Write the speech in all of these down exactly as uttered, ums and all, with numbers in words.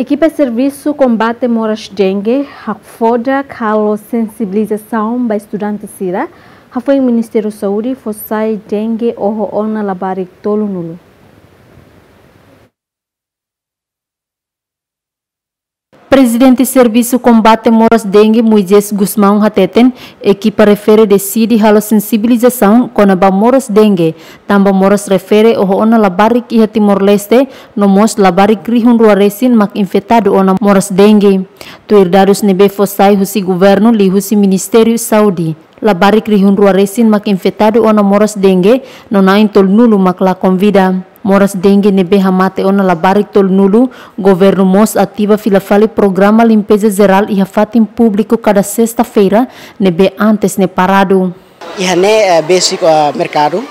Ekipa servisu kombate moras dengue hakfodak halo sensibilizasaun ba estudante sira, hafoin Ministériu Saúde fó sai dengue oho ona labarik tolunulu. Prezidente Servisu Kombate Moras Dengue, Moisés Gusmão, hateten, ekipa refere deside halo sensibilizasaun kona-ba moras dengue, tanba moras refere oho ona labarik iha Timor-Leste, no mós labarik rihun rua resin mak infetadu ona moras dengue. Tuir dadus ne'ebé fó sai husi governu liuhusi Ministériu Saúde, labarik rihun rua resin mak infetadu ona moras dengue, no na'in tolunulu mak lakon vida. Moras dengue ne'ebé hamate ona labarik tolunulu, governu mós ativa fila fali programa limpeza jerál iha fatin públiku kada sesta-feira, ne'ebé antes ne'e paradu. Iha ne'e, eh, besik, eh, merkadu.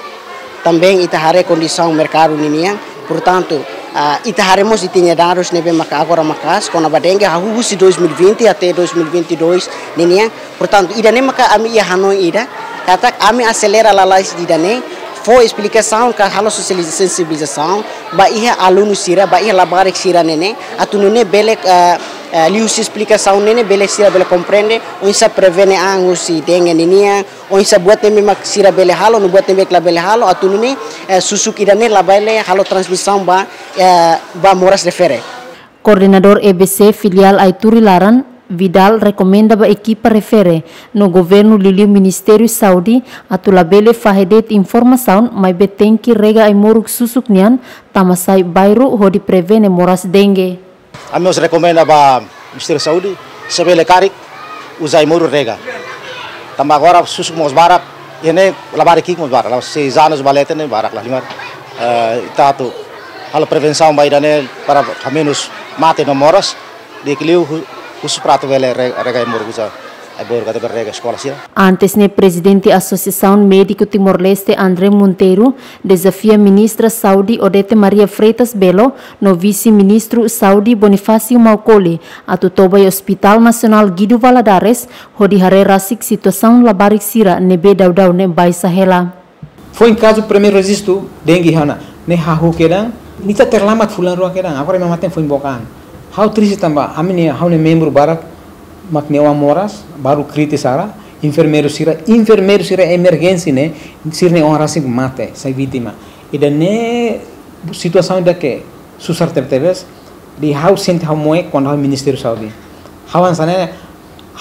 Tanba ita haree kondisaun merkadu ninian. Portantu, ah, ita haree mós ita-nia dadus ne'ebé maka agora maka'as kona-ba dengue, hahú husi dois mil e vinte até dois mil e vinte e dois ninian. Portantu, ida-ne'e maka ami iha hanoin ida, katak ami aselera lalais ida-ne'e, fó esplikasaun ka halo sosializa-, sensibilizasaun ba iha alunu sira, ba iha labarik sira-ne'e ne'e, atu nune'e bele, eh, eh, liuhusi esplikasaun ne'e ne'e bele sira bele komprende oinsá prevene an husi dengue ninian, oinsá buat ne'ebé mak sira bele halo, no buat ne'ebé la bele halo, atu nune'e, eh, susuk ida-ne'e labele halo transmisaun ba, eh, ba moras refere. Koordenadór E B C filiál Aituri laran, Vidal, rekomenda ba ekipa refere no governu liuliu Ministériu Saúde atu labele fahe de'it informasaun, maibé tenke rega ai-moruk susuk nian tama sai bairru hodi prevene moras dengue. Ami mós rekomenda ba Ministériu Saúde, se bele karik, uza ai-moruk rega. Tanba agora susuk mós barak, iha ne'e labarik ki'ik mós barak, la'ós seis anos ba leten ne'e barak la halimar. Eh, ita atu halo prevensaun ba ida-ne'e para hamenus mate no moras, di'ak liu hu-, husu para atu bele re-, rega ai-moruk uza ai-boot ka atu bele rega eskola sira. Antes ne'e, Prezidente Asosiasaun Médiku Timor-Leste, André Monteiro, dezafia Ministra Saúde Odete Maria Freitas Belo no Vise-Ministru Saúde Bonifácio Maukoli atu toba iha Hospital Nasionál Guido Valadares, hodi haree rasik situasaun labarik sira ne'ebé daudaun ne'e baixa hela. Foin kazu primeiru rejistu dengue iha ona, ne'e hahú kedan, ita terlambat fulan rua kedan, agora ema mate foin book an. Ha'u triste tanba, ami-nia, ha'u-nia membru barak mak nia oan moras, balu kritis sira, enfermeiru sira, enfermeiru sira emerjénsia ne'e, sira-nia oan rasik mate, sai vítima. Ida-ne'e situasaun ida ke susar tebetebes, ha'u sente ha'u moe kuandu ha'u Ministériu Saúde. Ha'u hanesan ne'e,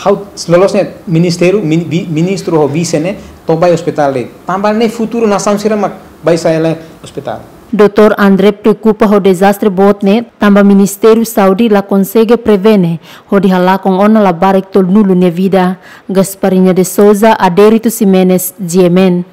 ha'u loloos ne'e ministériu, min-, vi-, ministru ho vise ne'e, toba iha ospitál de'it. Tanba ne'e futuru nasaun sira mak baixa hela iha ospitál. Doutór André preokupa ho dezastre boot ne'e, tanba Ministériu Saúde la konsege prevene, hodi halakon ona labarik tolunulu nia vida. Gasparinha de Souza, Adérito Ximenes, G M N.